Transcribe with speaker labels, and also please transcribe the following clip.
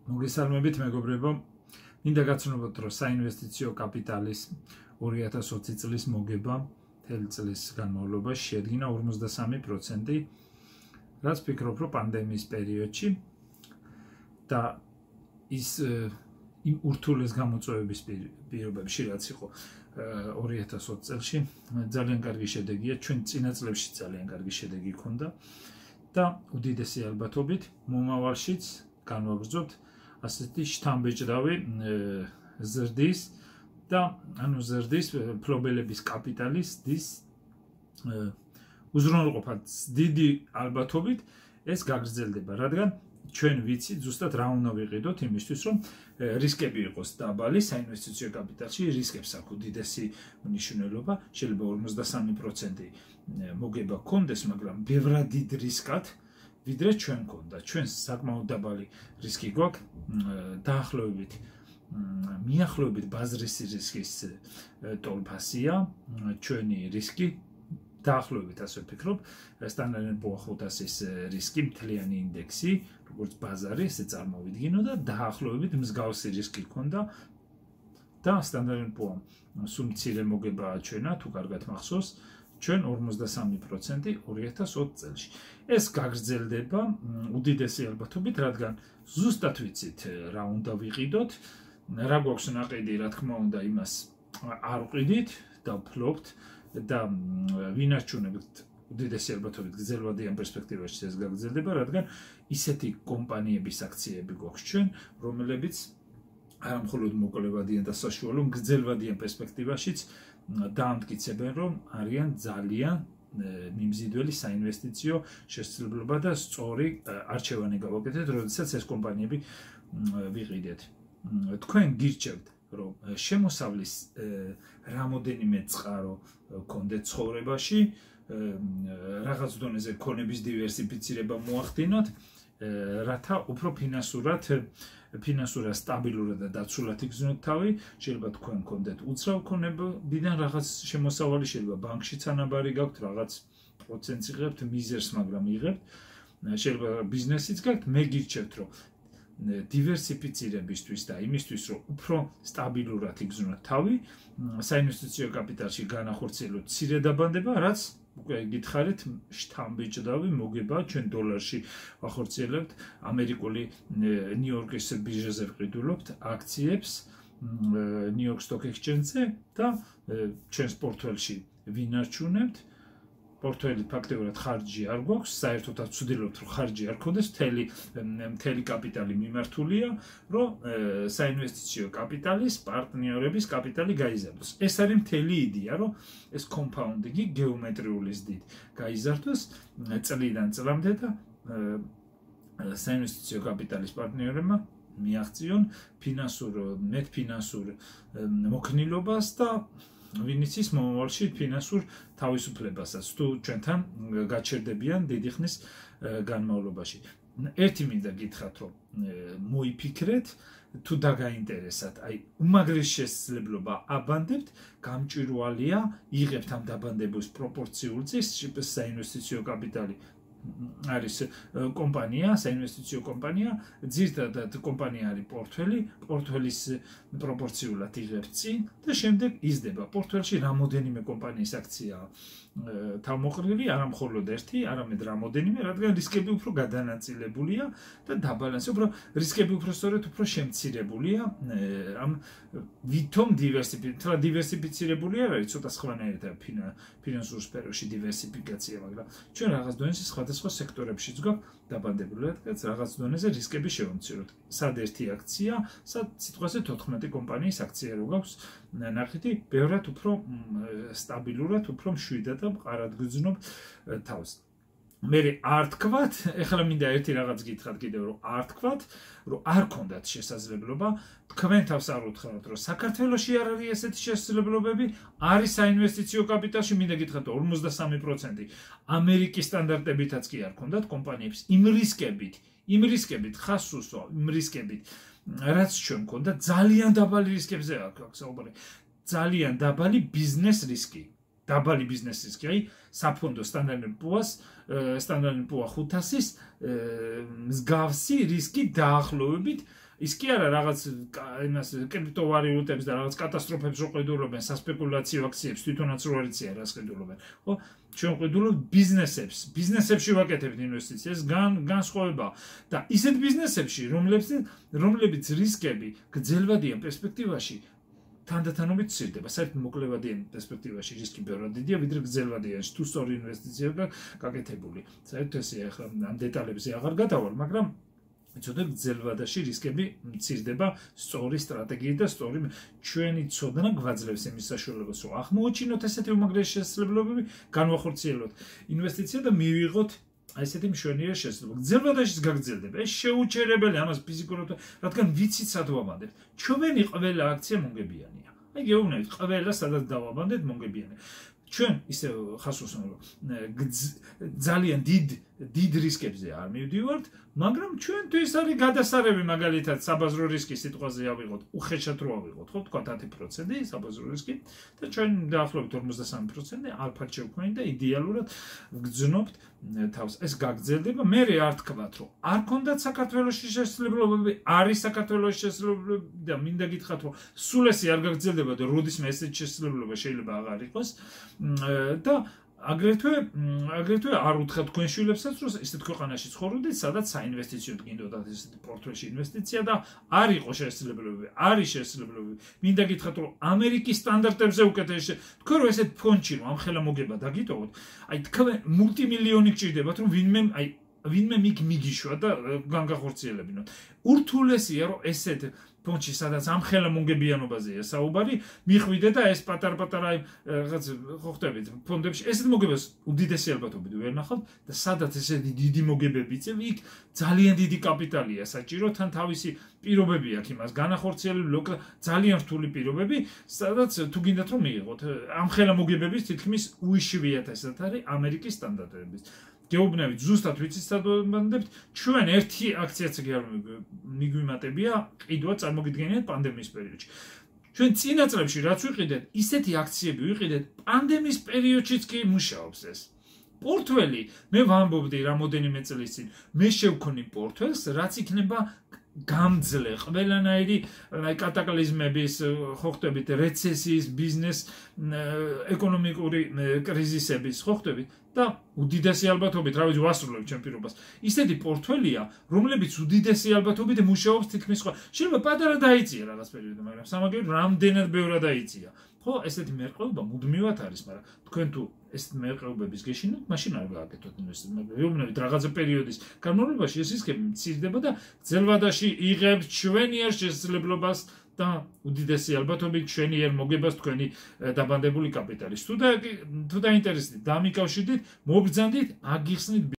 Speaker 1: მოგესალმებით მეგობრებო, მინდა გაცნობოთ, რომ საინვესტიციო კაპიტალის 2020 წლის მოგება მთელი წლის განმავლობაში შეადგინა 53%, რაც ფიქრობ, რომ პანდემიის პერიოდში და ის იმ ურთულეს გამოწვევების პირობებში, რაც იყო 2020 წელში, ძალიან კარგი შედეგია, ჩვენ წინა წლებში ძალიან კარგი შედეგი ჰქონდა და უდიდესი ალბათობით მომავალშიც განვაგრძობთ ასეთი შთამბეჭდავი ზრდის და ზრდის ფლობელების კაპიტალის უზრუნველყოფა დიდი ალბათობით ეს გაგრძელდება, რადგან ჩვენ ვიცით ზუსტად რა უნდა ვიყიდოთ იმისთვის, რომ რისკები იყოს დაბალი საინვესტიციო კაპიტალში, რისკებს აქვს უდიდესი მნიშვნელობა, შეიძლება 53% მოგება გქონდეს, მაგრამ ბევრად დიდ რისკად ვიდრე ჩვენ გქონდა. ჩვენ საკმაოდ დაბალი რისკი გვაქვს, დაახლოებით მიახლოებით ბაზრის რისკის ტოლფასია, ჩვენი რისკი დაახლოებით ასე ვფიქრობ, Standard & Poor's 500-ის რისკი მთლიანი ინდექსი, როგორც ბაზარი, ესე წარმოვიდგინო და დაახლოებით მსგავსი რისკი ჰქონდა და Standard & Poor's სულ მცირე მოგება ჩვენა, თუ კარგად მახსოვს, ჩვენ 53% 2020 წელში. ეს გაგრძელდება უდიდესი ალბათობით, რადგან ზუსტად ვიცით რა უნდა ვიყიდოთ, რა გვაქვს ნაყიდი, რა თქმა უნდა, იმას არ ვყიდით და ვფლობთ და ვინარჩუნებთ უდიდესი ალბათობით გრძელვადიან პერსპექტივაში ეს გაგრძელდება, რადგან ისეთი კომპანიების აქციები გვაქვს ჩვენ, რომლებიც არა მხოლოდ მოკლევადიან და საშუალო გრძელვადიან პერსპექტივაშიც დაამტკიცებენ, რომ არიან ძალიან მიმზიდველი საინვესტიციო შესაძლებლობა და სწორი არჩევანი გავაკეთეთ, როდესაც ეს კომპანიები ვიყიდეთ. თქვენ გირჩევთ, რომ შემოსავლის რამოდენიმე წყარო გქონდეთ ცხოვრებაში, რაღაც დონეზე ქონების დივერსიფიცირება მოახდინოთ, რათა უფრო ფინანსურად სტაბილურად და დაცულად იგრძნოთ თავი, შეიძლება თქვენ გქონდეთ უცრავ ქონებიდან რაღაც შემოსავალი, შეიძლება ბანკში თანაბარი გაქვთ, რაღაც პროცენტს იღებთ, მიზერს, მაგრამ იღებთ, შეიძლება ბიზნესიც გაქვთ, მე გირჩევთ, რომ დივერსიფიცირებისთვის და იმისთვის, რომ უფრო სტაბილურად იგრძნოთ თავი, საინვესტიციო კაპიტალში განახორციელოთ მცირე დაბანდება, რაც უკვე გითხარით, შთამბეჭდავი მოგება ჩვენ დოლარში ვახორციელებთ, ამერიკული ნიუ-იორკის ბირჟაზე ვყიდულობთ აქციებს, ნიუ-იორკ Stock Exchange-ზე და ჩვენს პორტფელში ვინარჩუნებთ. პორტფელი ფაქტობრივად ხარჯი არ გვაქვს, საერთოდაც ვცდილობთ, რომ ხარჯი არ გქონდეს, მთელი კაპიტალი მიმართულია, რომ საინვესტიციო კაპიტალის პარტნიორების კაპიტალი გაიზარდოს. ეს არის მთელი იდეა, რომ ეს კომპაუნდინგი გეომეტრიული ზრდით გაიზარდოს წლიდან წლამდე და საინვესტიციო კაპიტალის პარტნიორებმა მიაღწიონ ფინანსურ მოქნილობას და ვინც ის მომავალში ფინანსურ თავისუფლებასაც თუ ჩვენთან გაჩერდებიან დიდი ხნის განმავლობაში. ერთი მინდა გითხრათ, რომ მოიფიქრეთ, თუ დაგაინტერესათ, აი უმაღლეს შესაძლებლობა აბანდებთ, გამჭვირვალეა იღებთ ამ დაბანდების პროპორციულ წესს, საინვესტიციო კაპიტალი არის კომპანია, საინვესტიციო კომპანია, ძირითადად კომპანია არის პორტფელის პროპორციულად იღებს წინ და შემდეგ იზრდება. პორტფელში რამოდენიმე კომპანიის აქციაა თავმოყრილი, არა მხოლოდ ერთი, არამედ რამოდენიმე, რადგან რისკები უფრო გადანაწილებულია და დაბალანსი, რისკები უფრო სწორედ უფრო შემცირებულია, ამ ვითომ დივერსიფიცირებული არ არის, ცოტა სხვანაირად ფინანსურ სფეროში დივერსიფიკაცია, მაგრამ ჩვენ რაღაც დონეზე სხვადასხვა სექტორებშიც გვაქვს დაბანდებული, რადგან რაღაც დონეზე რისკები შევამციროთ. სად ერთი აქცია, სად სიტყვაზე 14 კომპანიის აქცია რო გაქვს ნახეთი, ბევრად უფრო სტაბილურად, უფრო მშვიდად და მყარად გძნობ თავს. მე არ თქვათ, ეხლა მინდა ერთი რაღაც გითხრათ კიდევ, რომ არ თქვათ, რომ არ ქონდათ შესაძლებლობა, თქვენ თავს არ უთხრათ, რომ საქართველოში არ არის ესეთი შესაძლებლობები, არის საინვესტიციო კაპიტალში, მინდა გითხრათ 53%, ამერიკის სტანდარტებითაც კი არ ქონდათ კომპანიებს, იმ რისკებით ხასუსო, იმ რისკებით, რაც ჩვენ გქონდა, ძალიან დაბალი რისკებზე აქვს საუბარი, ძალიან დაბალი ბიზნეს რისკი. დაბალი ბიზნეს რისკი, აი საფონდო Standard & Poor's 500-ის მსგავსი რისკი დაახლოებით ის კი არა რაღაც იმას კრიპტოვალიუტებს და რაღაც კატასტროფებს რო ყიდულობენ სასპეკულაციო აქციებს თვითონაც რო არ იციან რას ყიდულობენ ხო ჩვენ ყიდულობთ ბიზნესებში ვაკეთებთ ინვესტიციას განსხვავება და ისეთ ბიზნესებში რომლებიც რისკები გრძელვადიან პერსპექტივაში თანდათანობით ცირდება საერთოდ მოკლევადიან პერსპექტივაში რისკი ბევრად დიდია ვიდრე გრძელვადიანში თუ სწორი ინვესტიციაა გაკეთებული საერთოდ ესე ახლა ამ დეტალებზე აღარ გადავალ მაგრამ ცოტა გრძელვადაში რისკები მცირდება სწორი სტრატეგიით და სწორი ჩვენი ცოდნა გვაძლევს იმის საშუალებას რომ აღმოაჩინოთ ესეთი უმაგრესი შესაძლებლობები განვახორციელოთ ინვესტიცია და მივიღოთ აი ესეთი მშვენიერი შესაძლებლობა გრძელვადაშიც გაგრძელდება ეს შეუჩერებელი ამას ფიზიკურად რადგან ვიცით სად ვაბანდებთ ჩვენი ყველა აქცია მონგებიანია აი გეუბნებით ყველა სადაც დავაბანდეთ მონგებიანია ჩვენ ისე ხას ვუსვამთ ძალიან დიდ რისკებზე არ მივდივართ მაგრამ ჩვენთვის არის გადასარევი მაგალითად საბაზრო რისკის სიტყვაზე ავიღოთ უხეშად რო ავიღოთ ხო თქვა 10% საბაზრო რისკი და ჩვენ დაახლოებით 53% ალფად შევქმნით და იდეალურად ვგრძნობთ თავს ეს გაგრძელდება მე არ თქვათ რომ არ ქონდათ საქართველოში შესაძლებლობები არის საქართველოში შესაძლებლობები და მინდა გითხრათ რომ სულ ესე არ გაგრძელდება და როდისმე ესეთი შესაძლებლობა შეიძლება აღარ იყოს და აგრეთვე არ უთხრათ თქვენ შვილებსაც რომ ისეთ ქვეყანაში ცხოვრობდეთ სადაც საინვესტიციოდ გინდოდათ ესეთი პორტფელში ინვესტიცია და არ იყო შესაძლებლობები არის შესაძლებლობები მინდა გითხრათ რომ ამერიკის სტანდარტებზე უკეთესი თქვენ რომ ესეთ ფონდში რომ ამხელა მოგება დაგიტოვოთ აი თქვენ მულტიმილიონი გჭირდებათ რომ ვინმე მიგიშვა და განგახორციელებინოთ ურთულესია რომ ესეთ ფონდში სადაც ამხელა მონგებიანობაზეა საუბარი მიხვიდე და ეს პატარ-პატარა რაღაც ხო ხტებით ფონდებში ესეთ მოგებას უდიდესი ალბათობით ვერ ნახავთ და სადაც ესეთი დიდი მოგებები იწევ იქ ძალიან დიდი კაპიტალია საჭირო თან თავისი პირობები აქვს იმას განახორციელებული ძალიან რთული პირობები სადაც თუ გინდათ რომ მიიღოთ ამხელა მოგებების თითქმის უიშვიათესად არის ამერიკის სტანდარტების გეუბნებით ზუსტად ვიცით სად ვაბანდებთ ჩვენ ერთი აქციაც არ მიგვიმატებია ყიდვა წარმოგიდგენიათ პანდემიის პერიოდში ჩვენ წინა წლებში რაც ვიყიდეთ ისეთი აქციები ვიყიდეთ პანდემიის პერიოდშიც კი მუშაობს ეს პორტფელი მე ვამბობდი რამოდენიმე წლის წინ მე შევქონი პორტფელს რაც იქნება გამძლე ყველანაირი კატაკლიზმების ხო ხტებით რეცესიის ბიზნეს ეკონომიკური კრიზისების ხო ხტებით და უდიდესი ალბათობით რა ვიცი ვასრულებ ჩემ პირობას ისეთი პორტფელია რომლებიც უდიდესი ალბათობით მუშაობს თითქმის სხვა შეიძლება პატარა დაიწია რაღაც პერიოდში მაგრამ სამაგერად რამდენად ბევრად დაიწია ხო ესეთი მერყეობა მუდმივად არის მაგრამ თქვენ თუ ეს მერყეობების გეშინოთ მაშინ არ გააკეთოთ ინვესტიცია მაგრამ ვიუბნებით რაღაცა პერიოდის განმავლობაში ეს რისკები მცირდება და გრძელვადაში იღებს ჩვენიერ შესაძლებლობას და უდიდესი ალბათობით ჩვენიერ მოგებას თქვენი დაბანდებული კაპიტალის თუ დაინტერესდით დამიკავშირდით მობრძანდით აგიხსნით